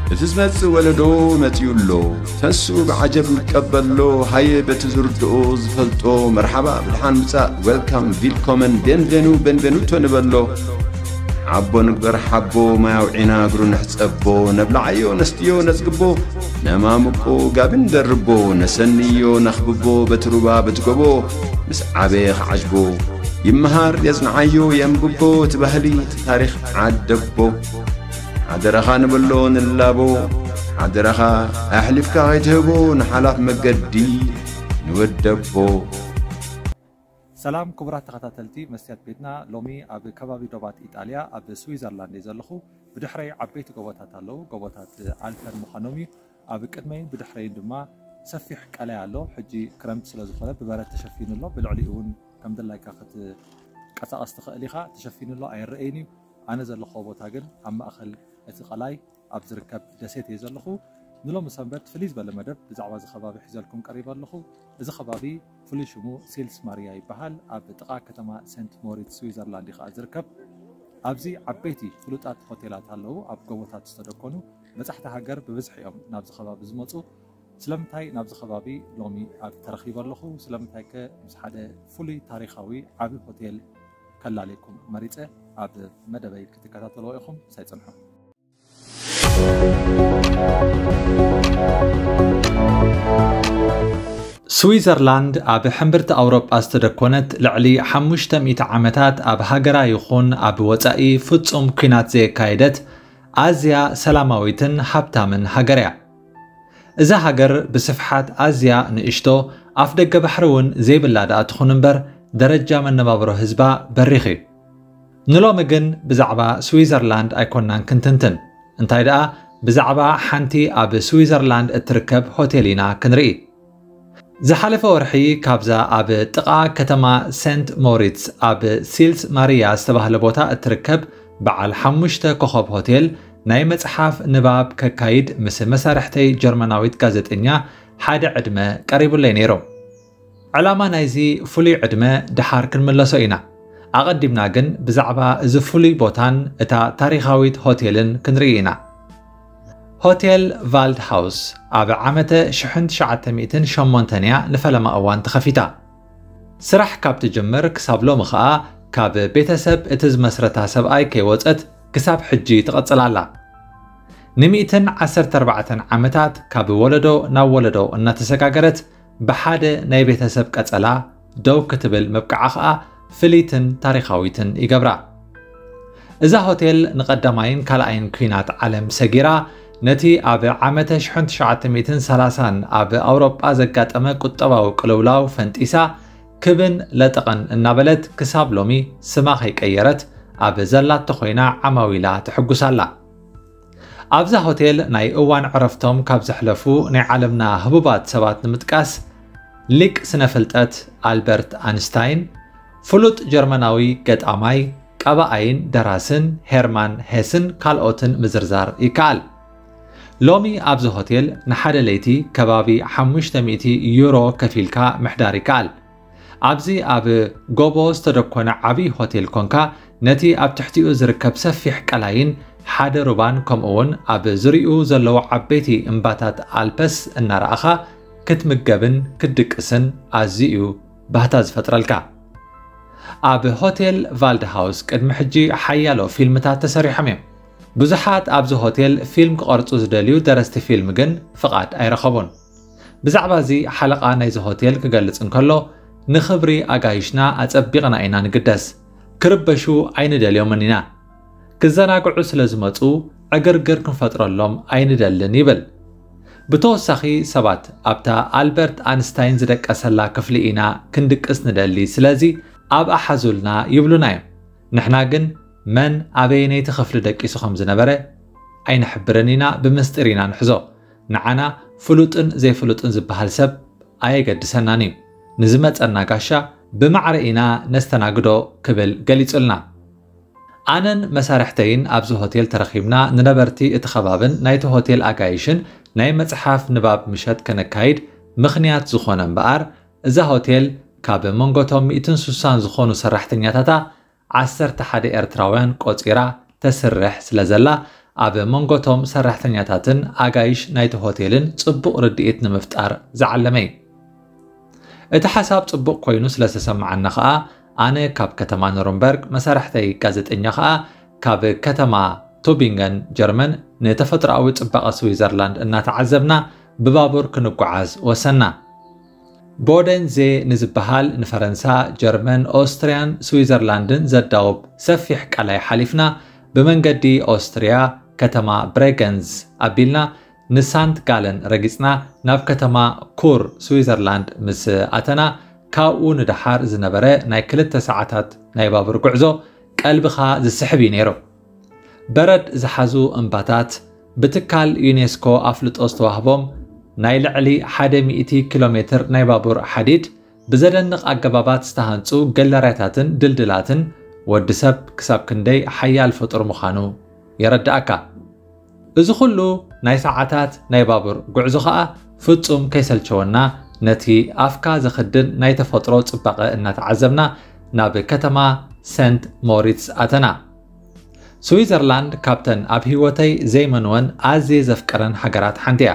እቲ ዝመጽእ ወለዶ መጺኡ ኣሎ። ተንስኡ ብዓጀብ ንቀበሎ። ሃየ በቲ ዝርድኦ ዝፈልጦ መርሓባ ብድሓን ምጻእ፣ ዌልካም፣ ቪልኮመን፣ ቤንቬኑ፣ ቤንቬኑቶ ንበሎ። ሓቦ ንግበር ሓቦ፣ ማይ ኣውዒና እግሩ ንሕጸቦ። ነብልዓዮ ነስትዮ ነጽግቦ፣ ነማምቆ ጋቢ ንደርቦ። ነሰንዮ ነኽብቦ በቲ ሩባ በቲ ጎቦ። ምስ ዓበየ ክዓጅቦ ይመሃር የጽንዓዮ የንብቦ። እቲ ባህሊ እቲ ታሪኽ ዓደቦ። ሓደራኻ ንበሎ ንላቦ። ሓደራኻ ኣሕሊፍካ ከይትህቦ ንሓላፍ መገዲ ንወደቦ። ሰላም ክቡራት ተኸታተልቲ መስትያት ቤትና፣ ሎሚ ኣብ ከባቢ ዶባት ኢጣልያ ኣብ ስዊዘርላንድ እየ ዘለኹ። ብድሕረይ ዓበይቲ ጎቦታት ኣለዉ። ጎቦታት ኣልፐን ምዃኖም እዩ። ኣብ ቅድመይን ብድሕረይን ድማ ሰፊሕ ቀላይ ኣሎ። ሕጂ ክረምቲ ስለ ዝኾነ ብበረድ ተሸፊኑ ኣሎ። ብልዕሊኡ እውን ከም ድላይካ ክትቀሳቐስ ትኽእል ኢኻ። ተሸፊኑ ኣሎ፣ ኣይረኣይን እዩ። ኣነ ዘለኹዎ ቦታ ግን ኣብ ማእኸል እቲ ቀላይ ኣብ ዝርከብ ደሴት እየ ዘለኹ። ንሎሚ ሰንበት ፍልይ ዝበለ መደብ ብዛዕባ እዚ ከባቢ ሒዘልኩም ቀሪበ ኣለኹ። እዚ ከባቢ ፍሉይ ሽሙ ሲልስ ማርያ ይበሃል። ኣብ ጥቓ ከተማ ሴንት ሞሪትስ ስዊዘርላንድ እዩ ከኣ ዝርከብ። ኣብዚ ዓበይቲ ፍሉጣት ሆቴላት ኣለዉ፣ ኣብ ጎቦታት ዝተደኮኑ። በጻሕቲ ሃገር ብብዝሒ እዮም ናብዚ ከባቢ ዝመጹ። ስለምንታይ ናብዚ ከባቢ ሎሚ ኣብ ተረኺበ ኣለኹ? ስለምንታይከ ምስ ሓደ ፍሉይ ታሪኻዊ ዓቢ ሆቴል ከላልየኩም መሪጸ? ኣብ መደበይ ክትከታተልዎ ኢኹም፣ ሳይ ጽንሑ። ስዊዘርላንድ ኣብ ሕምብርቲ ኣውሮጳ ዝተደኮነት፣ ልዕሊ ሓሙሽተ ሚእቲ ዓመታት ኣብ ሃገራ ይኹን ኣብ ወጻኢ ፍጹም ኲናት ዘየካየደት፣ ኣዝያ ሰላማዊትን ሃብታምን ሃገር እያ። እዛ ሃገር ብስፍሓት ኣዝያ ንእሽቶ፣ ኣፍ ደገ ባሕሪ እውን ዘይብላ ደኣ ትኹን እምበር፣ ደረጃ መነባብሮ ህዝባ በሪኽ እዩ። ንሎሚ ግን ብዛዕባ ስዊዘርላንድ ኣይኮናን ክንትንትን፣ እንታይ ደኣ ብዛዕባ ሓንቲ ኣብ ስዊዘርላንድ እትርከብ ሆቴል ኢና ክንርኢ። ዝሓለፈ ወርሒ ካብዛ ኣብ ጥቓ ከተማ ሴንት ሞሪትስ ኣብ ሲልስ ማርያ ዝተባህለ ቦታ እትርከብ በዓል ሓሙሽተ ኮኸብ ሆቴል ናይ መጽሓፍ ንባብ ከካይድ ምስ መሳርሕተይ ጀርመናዊት ጋዜጠኛ ሓደ ዕድመ ቀሪቡለይ ነይሩ። ዕላማ ናይዚ ፍሉይ ዕድመ ደሓር ክንምለሶ ኢና። ኣቐዲምና ግን ብዛዕባ እዚ ፍሉይ ቦታን እታ ታሪኻዊት ሆቴልን ክንርኢ ኢና። ሆቴል ቫልድሃውስ ኣብ ዓመተ ሽሕን ትሽዓተ ሚእትን ሸሞንተን እያ ንፈለማ እዋን ተኸፊታ። ስራሕ ካብ ትጅምር ክሳብ ሎሚ ኸኣ ካብ ቤተሰብ እቲ ዝመስረታ ሰብኣይ ከይወጸት ክሳብ ሕጂ ትቕጽል ኣላ። ንሚእትን ዓሰርተ ኣርባዕተን ዓመታት ካብ ወለዶ ናብ ወለዶ እናተሰጋገረት ብሓደ ናይ ቤተሰብ ቀጸላ ደው ክትብል ምብቃዓ ኸኣ ፍልይትን ታሪኻዊትን ይገብራ። እዛ ሆቴል ንቐዳማይን ካልኣይን ኲናት ዓለም ሰጊራ፣ ነቲ ኣብ ዓመተ ሽሕን ትሽዓተ ሚእትን ሰላሳን ኣብ ኣውሮጳ ዘጋጠመ ቁጠባዊ ቅልውላው ፈንጢሳ፣ ክብን ለጠቐን እናበለት ክሳብ ሎሚ ስማ ከይቀየረት ኣብ ዘላቶ ኮይና ዓማዊላ ትሕጉስ ኣላ። ኣብዛ ሆቴል ናይ እዋን ዕረፍቶም ካብ ዘሕለፉ ናይ ዓለምና ህቡባት ሰባት ንምጥቃስ፣ ሊቅ ስነ ፍልጠት ኣልበርት ኣንስታይን፣ ፍሉጥ ጀርመናዊ ገጣማይ፣ ቀባኣይን ደራስን ሄርማን ሄስን ካልኦትን ምዝርዛር ይከኣል። ሎሚ ኣብዚ ሆቴል ንሓደ ለይቲ ከባቢ ሓሙሽተ ሚእቲ ዩሮ ከፊልካ ምሕዳር ይከኣል። ኣብዚ ኣብ ጎቦ ዝተደኮነ ዓቢ ሆቴል ኮንካ፣ ነቲ ኣብ ትሕቲኡ ዝርከብ ሰፊሕ ቀላይን ሓደ ሩባን፣ ከምኡውን ኣብ ዙርያኡ ዘለዉ ዓበይቲ እምባታት ኣልፐስ እናረኣኻ ክትምገብን ክትድቅስን ኣዝዩ እዩ ባህታ ዝፈጥረልካ። ኣብ ሆቴል ቫልድሃውስ ቅድሚ ሕጂ ሓያሎ ፊልምታት ተሰሪሖም እዮም። ብዙሓት ኣብዚ ሆቴል ፊልም ክቐርጹ ዝደልዩ ደረስቲ ፊልም ግን ፍቓድ ኣይረኸቡን። ብዛዕባ እዚ ሓለቓ ናይዚ ሆቴል ክገልጽ እንከሎ፣ "ንኽብሪ ኣጋይሽና ኣጸቢቕና ኢና ንግደስ። ክርበሹ ኣይንደልዮምን ኢና። ክዘናግዑ ስለ ዝመጹ ዕግርግር ክንፈጥረሎም ኣይንደልን" ይብል። ብተወሳኺ፣ ሰባት ኣብታ ኣልበርት ኣንስታይን ዝደቀሰላ ክፍሊ ኢና ክንድቅስ ንደሊ፣ ስለዚ ኣብኣ ሓዙልና ይብሉና እዮም። ንሕና ግን መን ኣበየነይቲ ክፍሊ ደቂሱ ከም ዝነበረ ኣይንሕብርን ኢና፣ ብምስጢር ኢና ንሕዞ። ንዓና ፍሉጥን ዘይፍሉጥን ዝበሃል ሰብ ኣየገድሰናን እዩ። ንዝመጸና ጋሻ ብማዕረ ኢና ነስተናግዶ ክብል ገሊጹልና። ኣነን መሳርሕተይን ኣብዚ ሆቴል ተረኺብና ንነበርቲ እቲ ከባብን ናይቲ ሆቴል ኣጋይሽን ናይ መጽሓፍ ንባብ ምሸት ከነካይድ ምኽንያት ዝኾነ እምበኣር፣ እዛ ሆቴል ካብ መንጎቶም ሚእትን ስሳን ዝኾኑ ሰራሕተኛታታ ዓሰርተ ሓደ ኤርትራውያን ቆጺራ ተስርሕ ስለ ዘላ፣ ኣብ መንጎቶም ሰራሕተኛታትን ኣጋይሽ ናይቲ ሆቴልን ጽቡቕ ርድኢት ንምፍጣር ዝዓለመ እዩ። እቲ ሓሳብ ጽቡቕ ኮይኑ ስለ ዝተሰማዓና ከኣ፣ ኣነ ካብ ከተማ ኑርንበርግ፣ መሳርሕተይ ጋዜጠኛ ከኣ ካብ ከተማ ቱቢንገን ጀርመን፣ ንተፈጥሮኣዊ ጽባቐ ስዊዘርላንድ እናተዓዘብና ብባቡር ክንጓዓዝ ወሰና። ቦደንዜ ንዝበሃል ንፈረንሳ፣ ጀርመን፣ ኦስትርያን ስዊዘርላንድን ዘዳውብ ሰፊሕ ቀላይ ሓሊፍና፣ ብመንገዲ ኦስትርያ ከተማ ብሬገንዝ ኣቢልና ንሳንት ጋለን ረጊጽና፣ ናብ ከተማ ኩር ስዊዘርላንድ ምስ ኣተና፣ ካብኡ ንደሓር ዝነበረ ናይ ክልተ ሰዓታት ናይ ባቡር ጉዕዞ ቀልብኻ ዝስሕብ እዩ ነይሩ። በረድ ዝሓዙ እምባታት፣ ብትካል ዩኔስኮ ኣፍልጦ ዝተዋህቦም ናይ ልዕሊ ሓደ ሚእቲ ኪሎ ሜትር ናይ ባቡር ሓዲድ፣ ብዘደንቕ ኣገባባት ዝተሃንጹ ገለርያታትን ድልድላትን፣ ወዲ ሰብ ክሳብ ክንደይ ሓያል ፍጡር ምዃኑ የረድኣካ። እዚ ኩሉ ናይ ሰዓታት ናይ ባቡር ጉዕዞ ኸኣ ፍጹም ከይሰልቸወና፣ ነቲ ኣፍካ ዘኽድን ናይ ተፈጥሮ ጽባቐ እናተዓዘብና ናብ ከተማ ሰንት ሞሪትስ ኣተና። ስዊዘርላንድ ካብተን ኣብ ህይወተይ ዘይመንወን ኣዝየ ዘፍቅረን ሃገራት ሓንቲ እያ።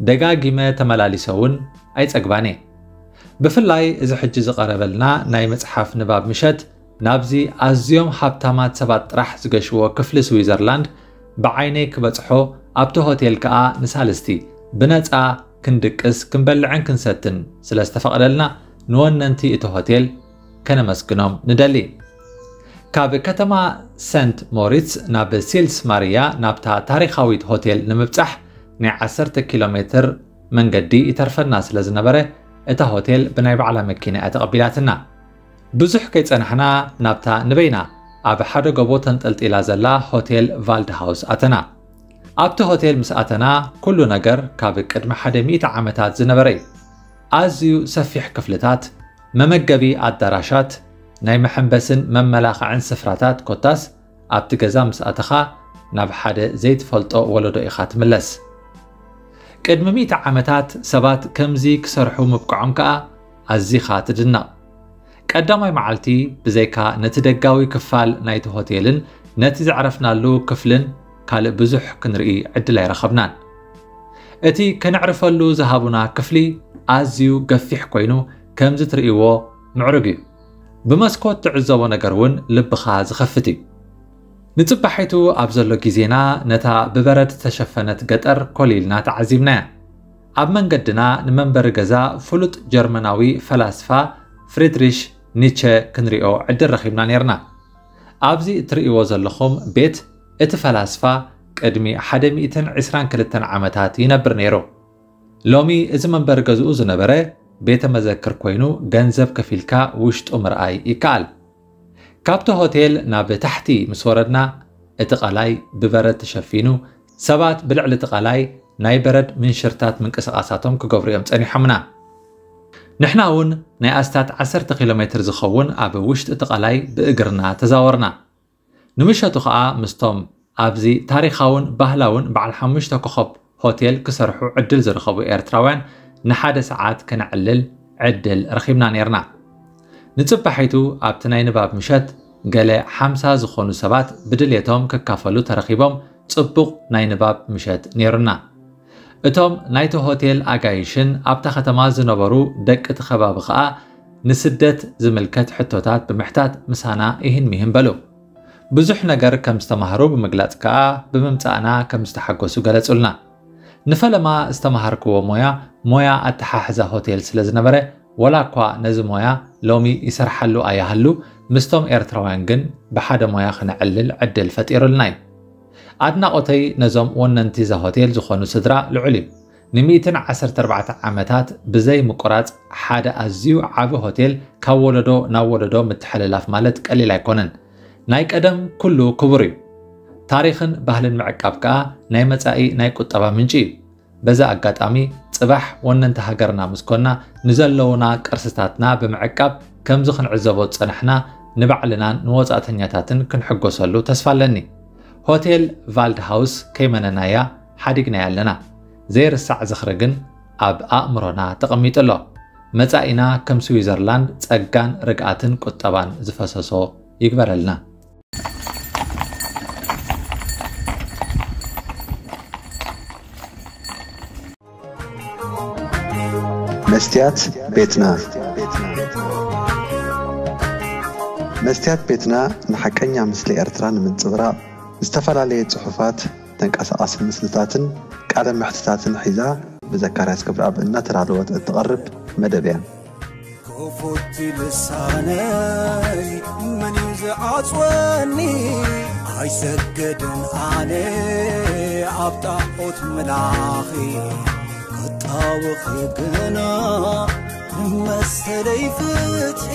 ደጋጊመ ተመላሊሰ እውን ኣይጸግባን እየ። ብፍላይ እዚ ሕጂ ዝቐረበልና ናይ መጽሓፍ ንባብ ምሸት፣ ናብዚ ኣዝዮም ሃብታማት ሰባት ጥራሕ ዝገሽዎ ክፍሊ ስዊዘርላንድ ብዓይነይ ክበጽሖ፣ ኣብቲ ሆቴል ከኣ ንሳልስቲ ብነጻ ክንድቅስ፣ ክንበልዕን ክንሰትን ስለ ዝተፈቕደልና፣ ንወነንቲ እቲ ሆቴል ከነመስግኖም ንደሊ። ካብ ከተማ ሰንት ሞሪትስ ናብ ሲልስ ማርያ፣ ናብታ ታሪኻዊት ሆቴል ንምብጻሕ ናይ ዓሰርተ ኪሎ ሜትር መንገዲ ይተርፈና ስለ ዝነበረ፣ እታ ሆቴል ብናይ ባዕላ መኪና እያ ተቐቢላትና። ብዙሕ ከይጸናሕና፣ ናብታ ንበይና ኣብ ሓደ ጎቦ ተንጠልጢላ ዘላ ሆቴል ቫልድሃውስ ኣተና። ኣብቲ ሆቴል ምስ ኣተና፣ ኩሉ ነገር ካብ ቅድሚ ሓደ ሚእቲ ዓመታት ዝነበረ እዩ። ኣዝዩ ሰፊሕ ክፍልታት፣ መመገቢ ኣዳራሻት፣ ናይ መሐንበስን መመላኽዕን ስፍራታት፣ ኮታስ ኣብቲ ገዛ ምስ ኣተኻ፣ ናብ ሓደ ዘይትፈልጦ ወለዶ ኢኻ ትምለስ። ቅድሚ ሚእቲ ዓመታት ሰባት ከምዚ ክሰርሑ ምብቅዖም ከኣ ኣዚኻ ትድነቕ። ቀዳማይ መዓልቲ፣ ብዘይካ ነቲ ደጋዊ ክፋል ናይቲ ሆቴልን ነቲ ዘዕረፍናሉ ክፍልን፣ ካልእ ብዙሕ ክንርኢ ዕድል ኣይረኸብናን። እቲ ከነዕርፈሉ ዝሃቡና ክፍሊ ኣዝዩ ገፊሕ ኮይኑ፣ ከምዚ ትርእይዎ ምዕሩግ እዩ። ብመስኮት ትዕዘቦ ነገር እውን ልብኻ ዝኸፍት እዩ። ንጽባሒቱ ኣብ ዘሎ ግዜና፣ ነታ ብበረድ ዝተሸፈነት ገጠር ኮሊልና ተዓዚብናያ። ኣብ መንገድና ንመንበሪ ገዛ ፍሉጥ ጀርመናዊ ፈላስፋ ፍሪድሪሽ ኒቸ ክንሪኦ ዕድል ረኺብና ነይርና። ኣብዚ እትርእይዎ ዘለኹም ቤት፣ እቲ ፈላስፋ ቅድሚ ሓደ ሚእትን ዕስራን ክልተን ዓመታት ይነብር ነይሩ። ሎሚ እዚ መንበሪ ገዝኡ ዝነበረ ቤተ መዘክር ኮይኑ፣ ገንዘብ ከፊልካ ውሽጡ ምርኣይ ይከኣል። ካብቲ ሆቴል ናብ ታሕቲ ምስ ወረድና፣ እቲ ቀላይ ብበረድ ተሸፊኑ፣ ሰባት ብልዕሊ እቲ ቀላይ ናይ በረድ ምንሽርታት ምንቅስቓሳቶም ክገብሩ እዮም ጸኒሖምና። ንሕና እውን ናይ ኣስታት ዓሰርተ ኪሎ ሜትር ዝኸውን ኣብ ውሽጢ እቲ ቀላይ ብእግርና ተዛወርና። ንምሸቱ ኸኣ ምስቶም ኣብዚ ታሪኻውን ባህላውን በዓል ሓሙሽተ ኮኸብ ሆቴል ክሰርሑ ዕድል ዝረኸቡ ኤርትራውያን ንሓደ ሰዓት ከነዕልል ዕድል ረኺብና ነይርና። ንጽባሒቱ ኣብቲ ናይ ንባብ ምሸት ገለ ሓምሳ ዝኾኑ ሰባት ብድሌቶም ክካፈሉ ተረኺቦም፣ ጽቡቕ ናይ ንባብ ምሸት ነይሩና። እቶም ናይቲ ሆቴል ኣጋይሽን ኣብታ ከተማ ዝነበሩ ደቂ እቲ ከባቢ ኸኣ ንስደት ዝምልከት ሕቶታት ብምሕታት ምሳና ይህን ሚህን በሉ። ብዙሕ ነገር ከም ዝተማህሩ ብምግላጽ ከኣ ብምምጻእና ከም ዝተሓጎሱ ገለጹልና። ንፈለማ ዝተማሃርክዎ ሞያ፣ ሞያ ኣተሓሕዛ ሆቴል ስለ ዝነበረ፣ ወላ እኳ ነዚ ሞያ ሎሚ ይሰርሓሉ ኣይሃሉ፣ ምስቶም ኤርትራውያን ግን ብሓደ ሞያ ክነዕልል ዕድል ፈጢሩልና እዩ። ኣድናቖተይ ነዞም ወነንቲ እዛ ሆቴል ዝኾኑ ስድራ ልዑል እዩ። ንሚእትን ዓሰርተ ኣርባዕተ ዓመታት ብዘይ ምቁራጽ ሓደ ኣዝዩ ዓቢ ሆቴል ካብ ወለዶ ናብ ወለዶ ምትሕልላፍ ማለት ቀሊል ኣይኮነን። ናይ ቀደም ኩሉ ክቡር እዩ። ታሪኽን ባህልን ምዕቃብ ከኣ ናይ መጻኢ ናይ ቁጠባ ምንጪ እዩ። በዚ ኣጋጣሚ፣ ጽባሕ ወነንቲ ሃገርና ምስ ኮና፣ ንዘለዉና ቅርስታትና ብምዕቃብ፣ ከምዚ ክንዕዘቦ ዝጸናሕና፣ ንባዕልናን ንወጻእተኛታትን ክንሕጎሰሉ ተስፋ ኣለኒ። ሆቴል ቫልድሃውስ ከይመነናያ ሓዲግናያ ኣለና። ዘይርሳዕ ዝኽሪ ግን ኣብ ኣእምሮና ተቐሚጡ ኣሎ። መጻኢና ከም ስዊዘርላንድ ጸጋን ርግኣትን ቁጠባን ዝፈሰሶ ይግበረልና። መስትያት ቤትና። መስትያት ቤትና ንሓቀኛ ምስሊ ኤርትራ ንምንጽብራቕ ዝተፈላለየ ጽሑፋት፣ ተንቀሳቓሲ ምስልታትን ቃለ መሕትታትን ሒዛ ብዘካርያስ ክብረኣብ እናተዳለወት እትቐርብ መደብ እያ። ክፉት ልሳነይ መን እዩ ዝዓጽወኒ? ኣይሰገድን ኣነ ኣብ ጣዖት ምላኺ ክጣወኺ ግና መሰለይ ፍትሒ